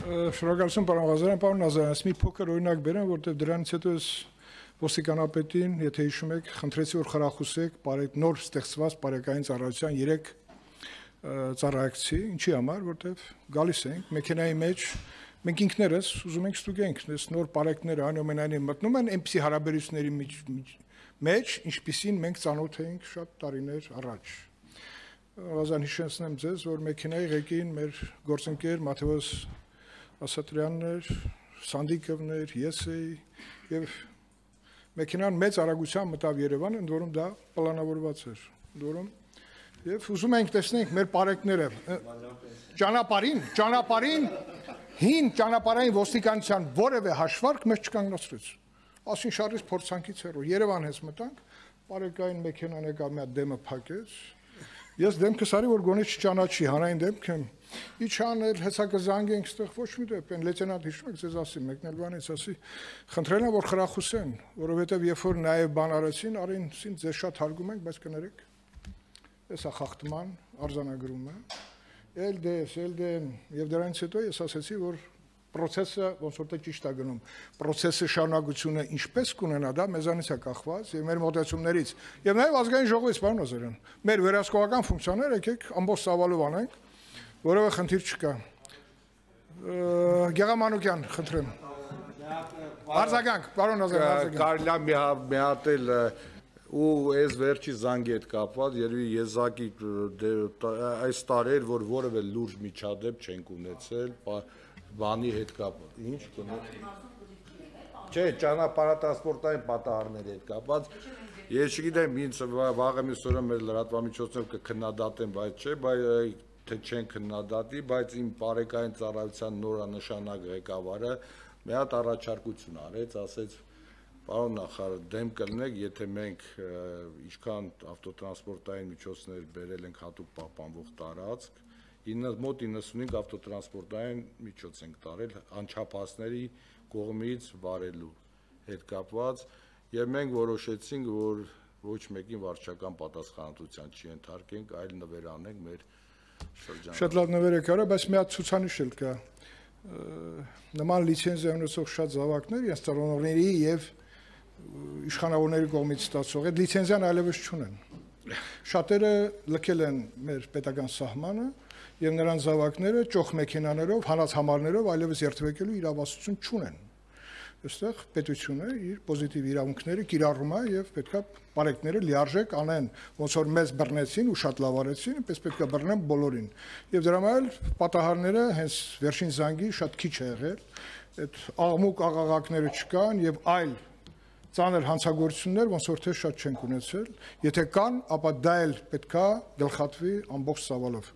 Շնորհակալություն պարոն Ղազարյան, պարոն Նազարյան, մի փոքր օրինակ բերեմ, որտեղ դրանից հետո ես ոստիկանապետին, եթե հիշում եք, խնդրեցի որ խրախուսեք նոր ստեղծված բարեկային ծառայության 3 ծառայակցի, ինչի համար, որտեղ գալիս ենք մեքենայի մեջ, մենք ինքներս ուզում ենք ստուգենք, այս նոր բարեկները այնուամենայնիվ մտնում են այնպիսի հարաբերությունների մեջ, ինչպիսին մենք ծանոթ էինք շատ տարիներ առաջ։ Ղազարյան, հիշեցնեմ ձեզ, որ մեքենայի ղեկին մեր գործընկեր Մաթեոս Ասատրյանն էր, Սանդիկովն էր, ես էի եւ մեքենան մեծ արագությամբ մտավ Երևան, ընդ որում դա պլանավորված էր։ Ընդ որում եւ ուզում ենք տեսնենք մեր բարեկները ճանապարհին հին ճանապարհային ոստիկանության որևէ հաշվարկ մեզ չկանգնացրեց։ Ասին շարժից փորձանքից հեռու Երևան հենց մտանք, բարեկային մեքենան եկավ մի հատ դեմը փակեց։ Ես դեմքս արի որ գոնե չճանաչի, հանրային դեմք եմ։ Իջանել, հեսա կզանգենք, ստեղ ոչ մի դեպք, այն լեյտենանտ հիշում եք, ձեզ ասի, մեկն էլ բանից ասի, խնդրել եմ որ խրախուսեն, որովհետև երբ որ նաև բան արեցին, արին ձեզ շատ հարգում ենք, բայց կներեք։ Էսա խախտման արձանագրումը, եւ դրանից հետո ես ասացի, որ process-ը ոնց որ թե ճիշտ է գնում, process-ի շարունակությունը ինչպես կունենա, դա մեզանից է կախված եւ մեր մոտեցումներից եւ նաեւ ազգային ժողովից, պարոն Նազարյան, մեր վերահսկողական ֆունկցիաները եկեք ամբողջ ծավալով անենք, որովհետեւ խնդիր չկա։ Գեղամանուկյան, խնդրեմ։ Արձագանք, պարոն Նազարյան, կարելի է մի հատ էլ ու այս վերջի զանգի հետ կապված երևի եզակի այս տարեր որ որևէ լուրջ միջադեպ չենք ունեցել բանի հետ կապված ինչ չէ ճանապարհատրանսպորտային պատահարների հետ կապված ես չգիտեմ ինձ վաղը մյուս օրը մեր լրատվամիջոցներով կքննադատեն բայց չէ թե չեն քննադատի բայց իմ բարեկային ծառայության նորանշանակ ղեկավարը մի հատ առաջարկություն արեց ասեց Պարոն նախարար, դեմ կլինեք, եթե մենք ինչքան ավտոտրանսպորտային միջոցներ բերել ենք հատուկ պահպանվող տարածք, մոտ 95 ավտոտրանսպորտային միջոց ենք տարել անչափահասների կողմից վարելու հետ կապված, եւ մենք որոշեցինք, որ ոչ մեկին վարչական պատասխանատվության չենթարկենք, այլ նվերանենք մեր շրջանը։ Շատ լավ նվեր եք արել, բայց մի հատ ցուցանիշ էլ կա։ Նման լիցենզիա ունեցող շատ զավակներ, իրենց ծառայողների եւ իշխանավորների կողմից ստացող այդ լիցենզիան այլևս չունեն։ Շատերը լքել են մեր պետական սահմանը եւ նրանց զավակները ճոխ մեքենաներով, հանած համարներով այլևս երթվեկելու իրավասություն չունեն։ Այստեղ պետությունը իր պոզիտիվ իրավունքները կիրառում է եւ պետքա բարեկները լիարժեք անեն, ոնց որ մեզ բռնեցին ու շատ լավ արեցին, այնպես պետքա բռնեն բոլորին։ Եվ դրա համար պատահարները հենց վերջին զանգի շատ քիչ է եղել, այդ աղմուկ աղաղակները չկան եւ այլ ծանր հանցագործություններ ոնց որ թե շատ չենք ունեցել, եթե կան, ապա դա էլ պետքա գլխատվի ամբողջ ծավալով։